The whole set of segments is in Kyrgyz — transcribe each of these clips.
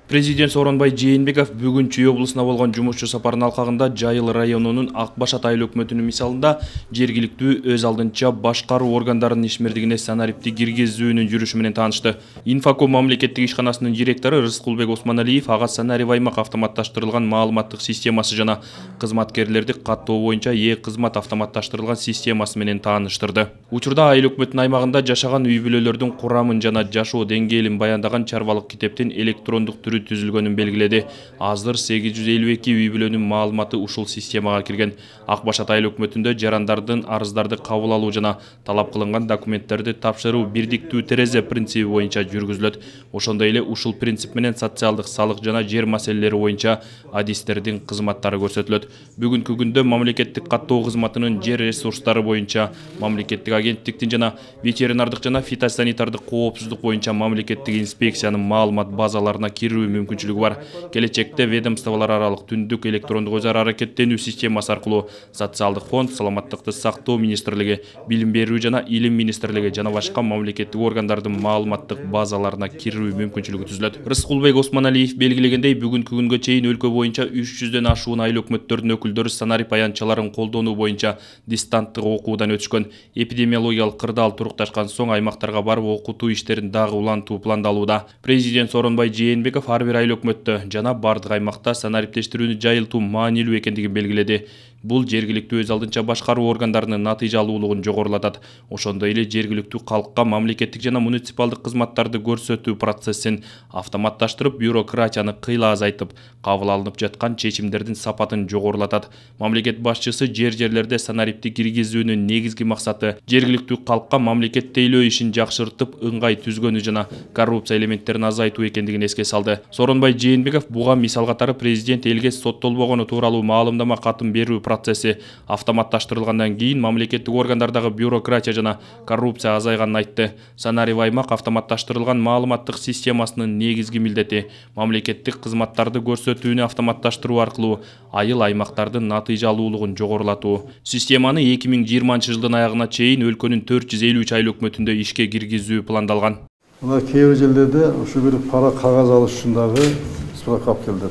Президент Сооронбай Жээнбеков бүгүн Чүй облусуна болгон жумушчу сапарынын алкагында Жайыл районунун Ак Башат айыл өкмөтүнүн мисалында жергиликтүү өз алдынча башкаруу органдарынын ишмердигине санариптик киргизүүнүн жүрүшү менен таанышты. Инфоком мамлекеттик ишканасынын директору Рыскулбек Осмоналиев ага санарип аймак автоматташтырылган маалыматтык системасы жана кызматкерлерди каттоо боюнча кызмат автоматташтырылган системасы менен тааныштырды. Учурда айыл өкмөтүнүн аймагында жашаган үй бүлөлөрдүн курамын жана жашоо деңгээлин баяндаган чарбалык китептин электрондук түрү түзүлгөнүн белгиледи. Азыр 852 үй бүлөнүн маалыматы ушул системага кирген. Ак Башат айыл өкмөтүндө жарандардын арыздарды кабыл алуу жана талап кылынган документтерди тапшыруу бирдиктүү терезе принциби боюнча жүргүзүлөт. Ошондой эле ушул принцип менен социалдык салык жана жер маселелери боюнча адистердин кызматтары көрсөтүлөт. Бүгүнкү күндө мамлекеттик каттоо кызматынын жер ресурстары боюнча мамлекеттик агенттиктин жана ветеринардык жана фитосанитардык коопсуздук боюнча мамлекеттик инспекциянын маалымат базаларына кирүү мүмкүнчүлүгү бар. Келечекте ведомстволор аралык түндүк электрондук өз ара аракеттенүү системасы аркылуу социалдык фонд, саламаттыкты сактоо министрлиги, билим берүү жана илим министрлиги жана башка мамлекеттик органдардын маалыматтык базаларына кирүү мүмкүнчүлүгү түзүлөт. Рыскулбек Осмоналиев белгилегендей, бүгүнкү күнгө чейин өлкө боюнча 300дөн ашуун айыл өкмөттөрүнүн өкүлдөрү санарип аянтчаларын колдонуу боюнча дистанттык окуудан өтүшкөн. Эпидемиологиялык кырдаал турукташкан соң аймактарга барып окутуу иштерин дагы улантуу пландалууда. Президент Сооронбай Жээнбеков ар бир айыл өкмөттө жана бардык аймакта санариптештирүүнү жайылтуу маанилүү экендигин белгиледи. Бул жергиликтүү өз алдынча башкаруу органдарынын натыйжалуулугун жогорулатат. Ошондой эле жергиликтүү калкка мамлекеттик жана муниципалдык кызматтарды көрсөтүү процессин автоматташтырып, бюрократияны кыйла азайтып, кабыл алынып жаткан чечимдердин сапатын жогорулатат. Мамлекет башчысы жерлерде санарипти киргизүүнүн негизги максаты жергиликтүү калкка мамлекет тейлөө ишин жакшыртып, ыңгай түзгөнү жана коррупция элементтерин азайтуу экендигин эске салды. Сооронбай Жээнбеков буга мисал катары президент элге соттолбогону тууралуу маалымдама катын берүү процесси автоматташтырылгандан кийин мамлекеттик органдардагы бюрократия жана коррупция азайганын айтты. Санарип аймак автоматташтырылган маалыматтык системасынын негизги милдети мамлекеттик кызматтарды көрсөтүүнү автоматташтыруу аркылуу айыл аймактардын натыйжалуулугун жогорулатуу. Системаны 2020-жылдын аягына чейин өлкөнүн 453 айыл өкмөтүндө ишке киргизүү пландалган. Мына кээ бир жерлерде ушу бир пара кагаз алыш үчүндагы справка алып келди.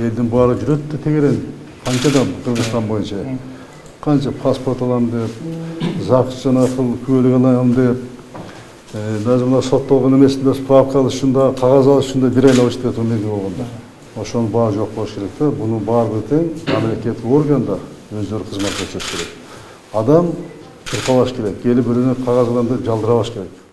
Элдин баары жүрөт да тегерен. Канчадан Кыргызстан боюнча канча паспорт алам деп, ЗАГС жана күбөлүк алам деп, даже мына соттолгон эмесинде справка алыш үчүн да, кагаз алыш үчүн да бир айлап иштеп турган болгондо. Ошонун баары жок болуш керек да. Мунун баары тең мамлекеттик органдар өздөрү кызмат көрсөтүш керек. Адам тырпалаш керек, келип бирөөнү кагаз алам деп жалдырабаш керек.